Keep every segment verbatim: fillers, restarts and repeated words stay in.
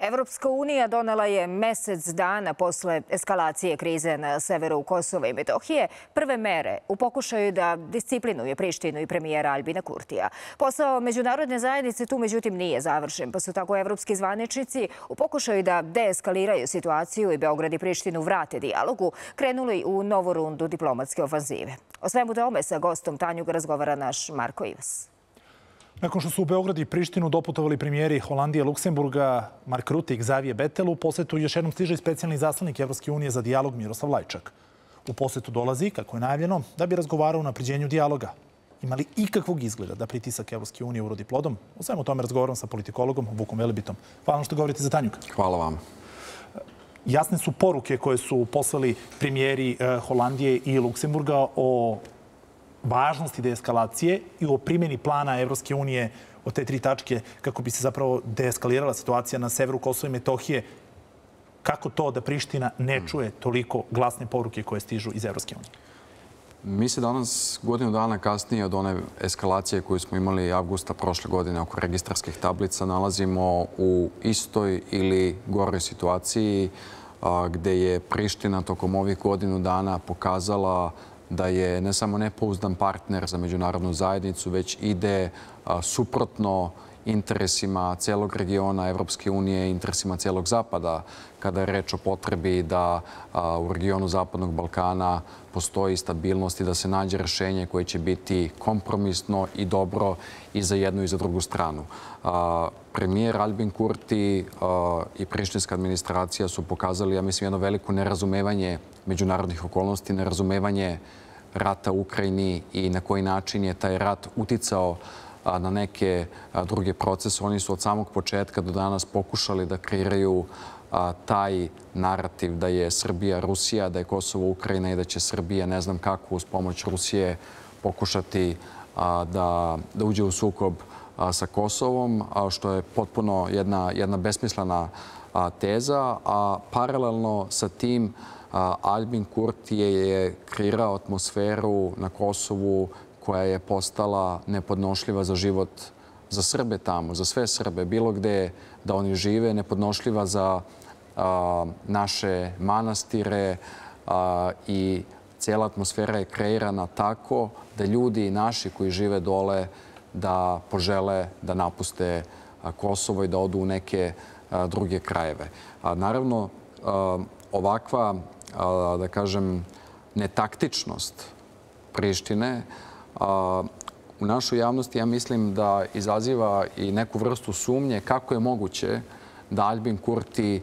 Evropska unija donela je mesec dana posle eskalacije krize na severu Kosova i Metohije prve mere u pokušaju da disciplinuje Prištinu i premijera Albina Kurtija. Posao međunarodne zajednice tu međutim nije završen, pa su tako evropski zvaničnici u pokušaju da deeskaliraju situaciju i Beograd i Prištinu vrate dijalogu krenuli u novu rundu diplomatske ofanzive. O svemu tome sa gostom Tanjuga razgovara naš Marko Ivas. Nakon što su u Beograd i Prištinu doputovali premijeri Holandije, Luksemburga, Mark Rutte i Xavier Bettel, u posetu još jednom stiže i specijalni zaslanik Evropske unije za dijalog Miroslav Lajčak. U posetu dolazi, kako je najavljeno, da bi razgovarao o napređenju dijaloga. Ima li ikakvog izgleda da pritisak Evropske unije urodi plodom? O svemu tome razgovaram sa politikologom Vukom Velebitom. Hvala vam što govorite za Tanjug. Hvala vam. Jasne su poruke koje su poslali premijeri Holandije i Luksemburga o važnosti deeskalacije i o primjeni plana Evropske unije od te tri tačke kako bi se zapravo deeskalirala situacija na severu Kosova i Metohije. Kako to da Priština ne čuje toliko glasne poruke koje stižu iz Evropske unije? Mi se danas, godinu dana kasnije od one eskalacije koju smo imali avgusta prošle godine oko registarskih tablica, nalazimo u istoj ili goroj situaciji gde je Priština tokom ovih godinu dana pokazala da je ne samo nepouzdan partner za međunarodnu zajednicu, već ide suprotno interesima celog regiona Evropske unije, interesima celog Zapada, kada je reč o potrebi da u regionu Zapadnog Balkana postoji stabilnost i da se nađe rešenje koje će biti kompromisno i dobro i za jednu i za drugu stranu. Premijer Albin Kurti i prištinska administracija su pokazali, ja mislim, jedno veliko nerazumevanje međunarodnih okolnosti, nerazumevanje rata u Ukrajini i na koji način je taj rat uticao na neke druge procese. Oni su od samog početka do danas pokušali da kreiraju taj narativ da je Srbija Rusija, da je Kosovo Ukrajina i da će Srbija ne znam kako uz pomoć Rusije pokušati da, da uđe u sukob sa Kosovom, što je potpuno jedna, jedna besmislena teza. A paralelno sa tim Albin Kurti je kreirao atmosferu na Kosovu koja je postala nepodnošljiva za život za Srbe tamo, za sve Srbe, bilo gde da oni žive, nepodnošljiva za a, naše manastire a, i cijela atmosfera je kreirana tako da ljudi naši koji žive dole da požele da napuste a, Kosovo i da odu u neke a, druge krajeve. A, naravno, a, ovakva, a, da kažem, netaktičnost Prištine u našoj javnosti, ja mislim da izaziva i neku vrstu sumnje kako je moguće da Albin Kurti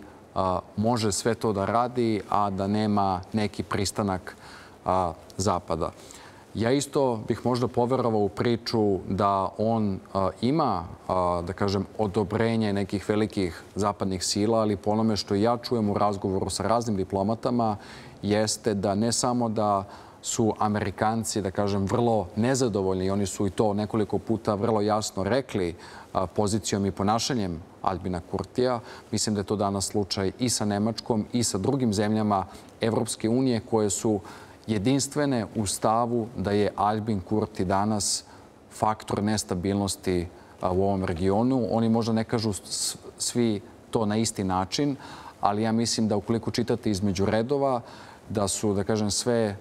može sve to da radi, a da nema neki pristanak Zapada. Ja isto bih možda poverovao u priču da on ima, da kažem, odobrenje nekih velikih zapadnih sila, ali po onome što ja čujem u razgovoru sa raznim diplomatama jeste da ne samo da su Amerikanci, da kažem, vrlo nezadovoljni i oni su i to nekoliko puta vrlo jasno rekli pozicijom i ponašanjem Albina Kurtija. Mislim da je to danas slučaj i sa Nemačkom i sa drugim zemljama Evropske unije koje su jedinstvene u stavu da je Albin Kurti danas faktor nestabilnosti u ovom regionu. Oni možda ne kažu svi to na isti način, ali ja mislim da ukoliko čitate između redova, da su, da kažem, sve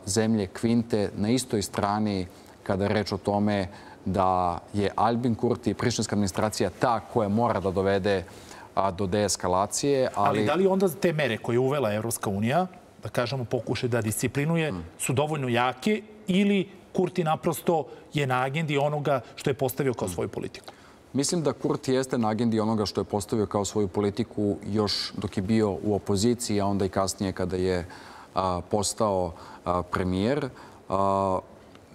zemlje Kvinte na istoj strani kada je reč o tome da je Albin Kurti i prištinska administracija ta koja mora da dovede do deeskalacije. Ali... ali da li onda te mere koje je uvela Evropska unija, da kažemo pokušaj da disciplinuje, su dovoljno jake ili Kurti naprosto je na agendi onoga što je postavio kao svoju politiku? Mislim da Kurti jeste na agendi onoga što je postavio kao svoju politiku još dok je bio u opoziciji, a onda i kasnije kada je postao premijer.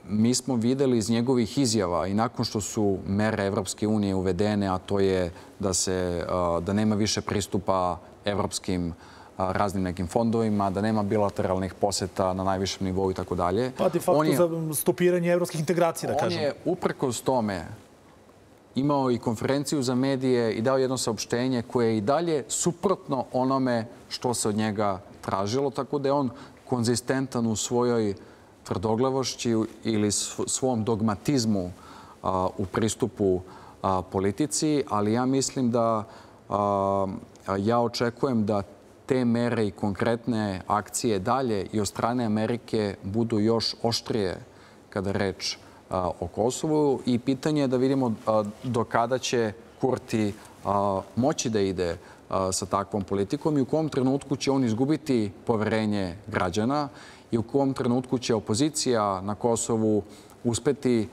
Mi smo videli iz njegovih izjava i nakon što su mere Evropske unije uvedene, a to je da, se, da nema više pristupa evropskim raznim nekim fondovima, da nema bilateralnih poseta na najvišem nivou i tako dalje. Pa de facto za stopiranje evropskih integracija, da kažem. On je uprkos tome imao i konferenciju za medije i dao jedno saopštenje koje je i dalje suprotno onome što se od njega tražilo, tako da je on konzistentan u svojoj tvrdoglavošći ili svom dogmatizmu u pristupu politici, ali ja mislim da ja očekujem da te mere i konkretne akcije dalje i od strane Amerike budu još oštrije kada je reč o Kosovu. I pitanje je da vidimo do kada će Kurti moći da ide sa takvom politikom i u kom trenutku će on izgubiti poverenje građana i u kom trenutku će opozicija na Kosovu uspeti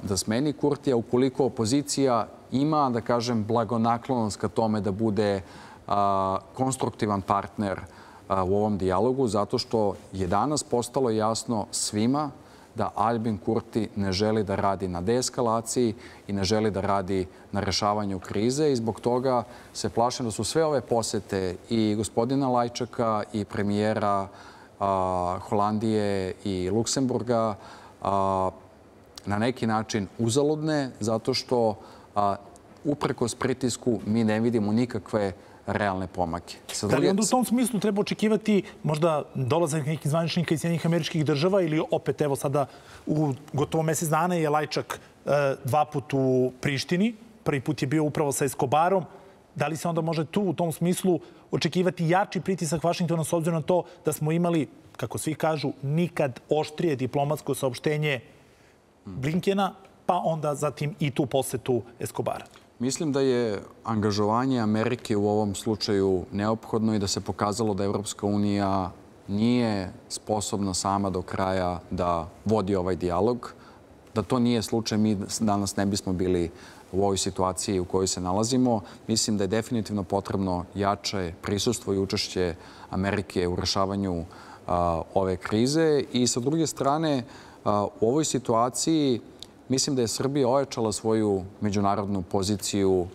da smeni Kurtija, ukoliko opozicija ima, da kažem, blagonaklonost ka tome da bude konstruktivan partner u ovom dijalogu, zato što je danas postalo jasno svima da Albin Kurti ne želi da radi na deeskalaciji i ne želi da radi na rešavanju krize i zbog toga se plašim da su sve ove posete i gospodina Lajčaka i premijera Holandije i Luksemburga na neki način uzaludne, zato što uprkos pritisku mi ne vidimo nikakve realne pomake. Da li onda u tom smislu treba očekivati možda dolazak nekih zvaničnika iz Sjedinjenih Američkih Država ili opet, evo sada, u gotovo mesec dana je Lajčak dva put u Prištini. Prvi put je bio upravo sa Eskobarom. Da li se onda može tu u tom smislu očekivati jači pritisak Vašingtona s obzirom na to da smo imali, kako svi kažu, nikad oštrije diplomatsko saopštenje Blinkena, pa onda zatim i tu posetu Eskobara? Mislim da je angažovanje Amerike u ovom slučaju neophodno i da se pokazalo da Evropska unija nije sposobna sama do kraja da vodi ovaj dijalog. Da to nije slučaj, mi danas ne bismo bili u ovoj situaciji u kojoj se nalazimo. Mislim da je definitivno potrebno jače prisustvo i učešće Amerike u rešavanju ove krize. I sa druge strane, u ovoj situaciji mislim da je Srbija ojačala svoju međunarodnu poziciju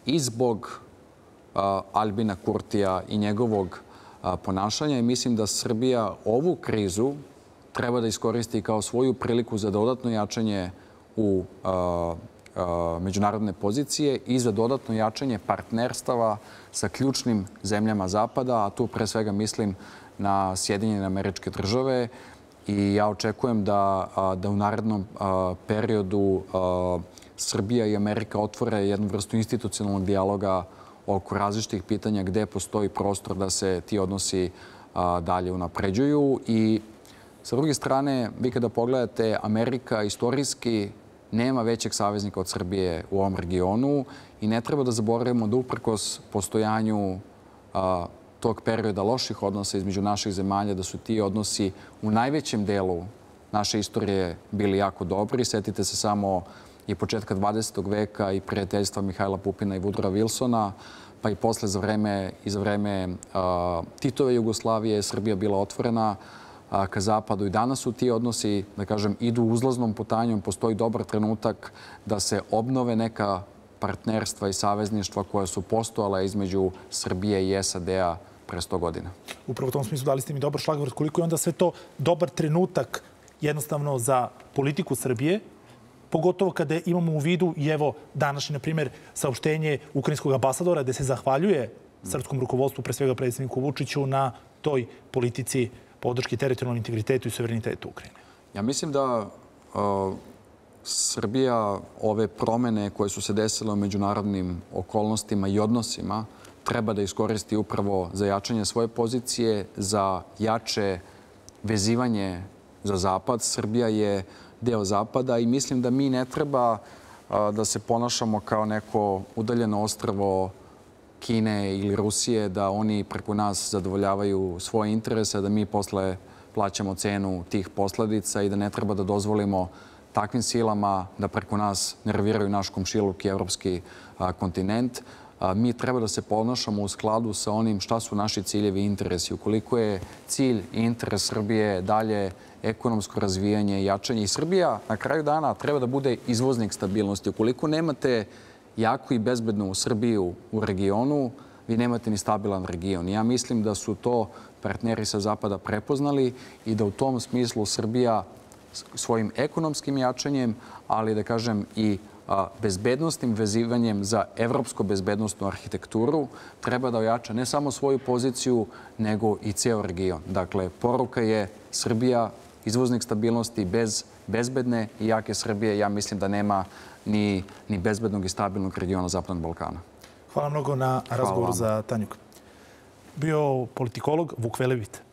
i zbog Albina Kurtija i njegovog ponašanja i mislim da Srbija ovu krizu treba da iskoristi kao svoju priliku za dodatno jačanje u međunarodne pozicije i za dodatno jačanje partnerstava sa ključnim zemljama Zapada, a tu pre svega mislim na Sjedinjene Američke Države. I ja očekujem da, da u narednom periodu Srbija i Amerika otvore jednu vrstu institucionalnog dijaloga oko različitih pitanja gde postoji prostor da se ti odnosi dalje unapređuju. I sa druge strane, vi kada pogledate, Amerika istorijski nema većeg saveznika od Srbije u ovom regionu i ne treba da zaboravimo da uprkos postojanju tog perioda loših odnosa između naših zemalja, da su ti odnosi u najvećem delu naše istorije bili jako dobri. Setite se samo i početka dvadesetog veka i prijateljstva Mihajla Pupina i Woodrowa Wilsona, pa i posle za vreme, i za vreme Titove Jugoslavije Srbija bila otvorena ka zapadu i danas su ti odnosi, da kažem, idu uzlaznom putanjom. Postoji dobar trenutak da se obnove neka partnerstva i savezništva koja su postojala između Srbije i S A D-a pre sto godina. Upravo u tom smislu dali ste mi dobar šlagvort. Koliko je onda sve to dobar trenutak jednostavno za politiku Srbije, pogotovo kada imamo u vidu i evo današnje, na primjer, saopštenje ukrajinskog ambasadora gde se zahvaljuje srpskom rukovodstvu, pre svega predsjedniku Vučiću, na toj politici podrške teritorijalnom integritetu i suverenitetu Ukrajine. Ja mislim da Srbija ove promene koje su se desile u međunarodnim okolnostima i odnosima treba da iskoristi upravo za jačanje svoje pozicije, za jače vezivanje za Zapad. Srbija je deo Zapada i mislim da mi ne treba da se ponašamo kao neko udaljeno ostrvo Kine ili Rusije, da oni preko nas zadovoljavaju svoje interese, da mi posle plaćamo cenu tih posledica i da ne treba da dozvolimo takvim silama da preko nas nerviraju naš komšiluk i evropski kontinent. Mi treba da se ponašamo u skladu sa onim šta su naši ciljevi i interesi. Ukoliko je cilj i interes Srbije dalje ekonomsko razvijanje i jačanje, i Srbija na kraju dana treba da bude izvoznik stabilnosti. Ukoliko nemate jaku i bezbednu Srbiju u regionu, vi nemate ni stabilan region. Ja mislim da su to partneri sa Zapada prepoznali i da u tom smislu Srbija svojim ekonomskim jačanjem, ali da kažem i bezbednostnim vezivanjem za evropsko bezbednostnu arhitekturu treba da ojača ne samo svoju poziciju, nego i ceo region. Dakle, poruka je Srbija izvoznik stabilnosti. Bez bezbedne i jake Srbije ja mislim da nema ni, ni bezbednog i stabilnog regiona Zapadnog Balkana. Hvala mnogo na razgovoru za Tanjuk. Bio politikolog Vuk Velebit.